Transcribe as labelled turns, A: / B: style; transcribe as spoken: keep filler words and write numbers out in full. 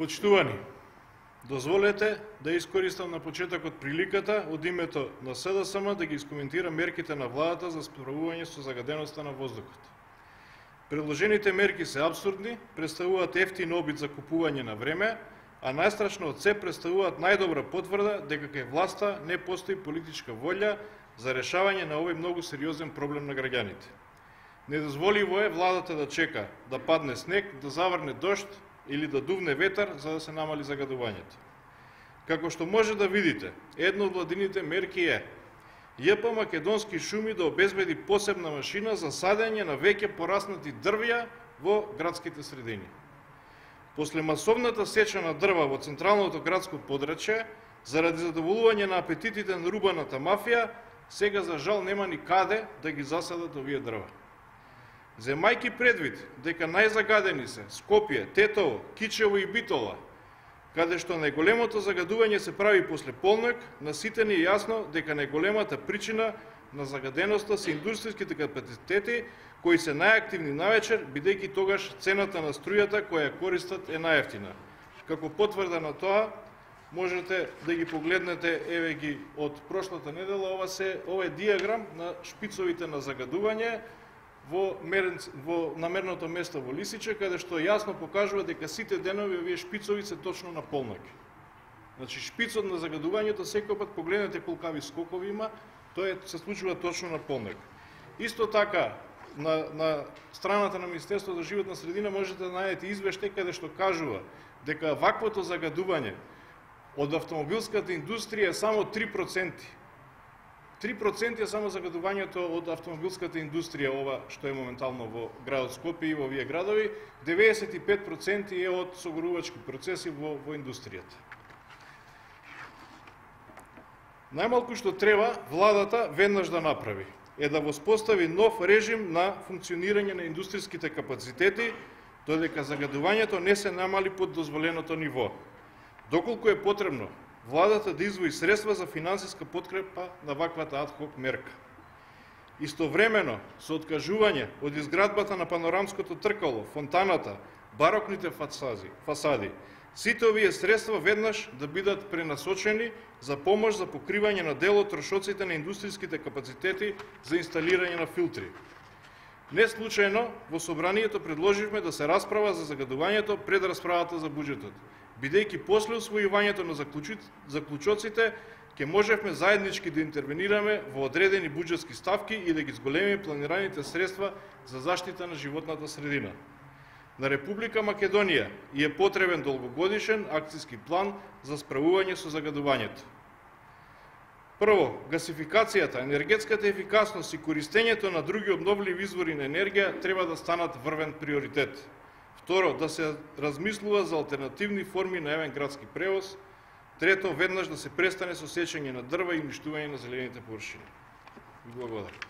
A: Почитувани, дозволете да искористам на почетокот приликата од името на С Д С М да ги искоментирам мерките на владата за справување со загаденоста на воздухот. Предложените мерки се апсурдни, представуваат ефтин обид за купување на време, а најстрашно од се представуваат најдобра потврда дека кај власта не постои политичка волја за решавање на овој многу сериозен проблем на граѓаните. Недозволиво е владата да чека да падне снег, да заврне дожд или да дувне ветар за да се намали загадувањето. Како што може да видите, едно од владините мерки е Ј П Македонски шуми да обезбеди посебна машина за садење на веќе пораснати дрвја во градските средини. После масовната сеча на дрва во централното градско подрачје, заради задоволување на апетитите на рубаната мафија, сега за жал нема ни каде да ги засадат овие дрва. Земајки предвид дека најзагадени се Скопје, Тетово, Кичево и Битола, каде што најголемото загадување се прави после полнок, на сите ни е јасно дека најголемата причина на загаденоста се индустријските капацитети кои се најактивни навечер, бидејќи тогаш цената на струјата која ја користат е најевтина. Како потврда на тоа, можете да ги погледнете, еве ги од прошлата недела, ова се ова е диаграм на шпицовите на загадување во, мерен, во намерното место во Лисиче, каде што јасно покажува дека сите денови овие шпицови се точно на полноќ. Значи шпицот на загадувањето секој пат погледнете колкави скокови има, тоа се случува точно на полноќ. Исто така на, на страната на Министерството за животна средина можете да најдете извештај каде што кажува дека ваквото загадување од автомобилската индустрија е само три проценти. три проценти е само загадувањето од автомобилската индустрија, ова што е моментално во градот Скопје и во овие градови, деветдесет и пет проценти е од согорувачки процеси во, во индустријата. Најмалку што треба владата веднаш да направи е да воспостави нов режим на функционирање на индустријските капацитети, додека загадувањето не се намали под дозволеното ниво. Доколку е потребно, владата да издвои средства за финансиска подкрепа на ваквата адхок мерка. Истовремено, со откажување од изградбата на панорамското тркало, фонтаната, барокните фасади, фасади, сите овие средства веднаш да бидат пренасочени за помош за покривање на дел од трошоците на индустријските капацитети за инсталирање на филтри. Не случајно, во собранието предложивме да се расправа за загадувањето пред расправата за буџетот, бидејќи после усвојувањето на заклучоците ќе можевме заеднички да интервенираме во одредени буџетски ставки и да ги зголемиме планираните средства за заштита на животната средина. На Република Македонија е потребен долгогодишен акцијски план за справување со загадувањето. Прво, гасификацијата, енергетската ефикасност и користењето на други обновливи извори на енергија треба да станат врвен приоритет. Второ, да се размислува за алтернативни форми на јавен градски превоз. Трето, веднаш да се престане со сечење на дрва и уништување на зелените површини. Благодарам.